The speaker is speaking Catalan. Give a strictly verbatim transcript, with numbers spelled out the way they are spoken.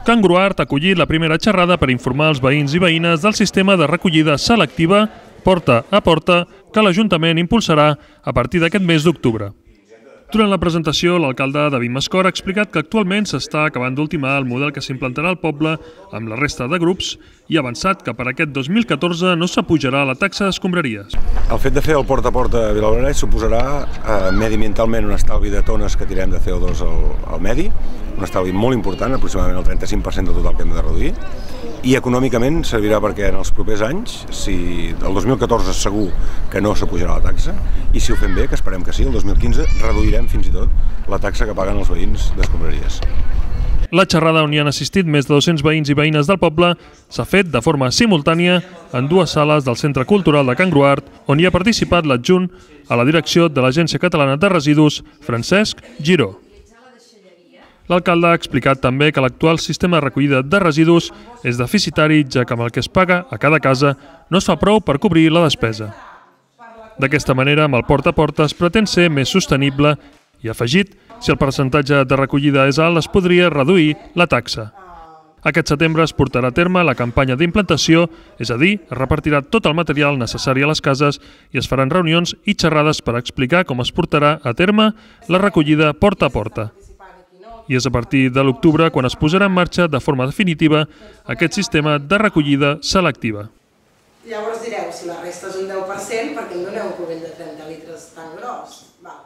Can Gruart ha acollit la primera xerrada per informar els veïns i veïnes del sistema de recollida selectiva porta a porta que l'Ajuntament impulsarà a partir d'aquest mes d'octubre. Durant la presentació, l'alcalde David Mascor ha explicat que actualment s'està acabant d'ultimar el model que s'implantarà al poble amb la resta de grups i ha avançat que per aquest dos mil catorze no s'apujarà la taxa d'escombraries. El fet de fer el porta a porta a Vilablairet suposarà eh, mediambientalment un estalvi de tones que tirem de C O dos al, al medi, un estalvi molt important, aproximadament el trenta-cinc per cent del total que hem de reduir, i econòmicament servirà perquè en els propers anys, si el dos mil catorze segur que no s'apujarà la taxa, i si ho fem bé, que esperem que sí, el dos mil quinze reduirem fins i tot la taxa que paguen els veïns d'escombraries. La xerrada, on hi han assistit més de dos-cents veïns i veïnes del poble, s'ha fet de forma simultània en dues sales del Centre Cultural de Can Gruart, on hi ha participat l'adjunt a la direcció de l'Agència Catalana de Residus, Francesc Giró. L'alcalde ha explicat també que l'actual sistema de recollida de residus és deficitari, ja que amb el que es paga a cada casa no es fa prou per cobrir la despesa. D'aquesta manera, amb el porta a porta es pretén ser més sostenible i, afegit, si el percentatge de recollida és alt, es podria reduir la taxa. Aquest setembre es portarà a terme la campanya d'implantació, és a dir, es repartirà tot el material necessari a les cases i es faran reunions i xerrades per explicar com es portarà a terme la recollida porta a porta. I és a partir de l'octubre quan es posarà en marxa de forma definitiva aquest sistema de recollida selectiva. Llavors direu, si la resta és un deu per cent, perquè em doneu un cubell de trenta litres tan gros? Val.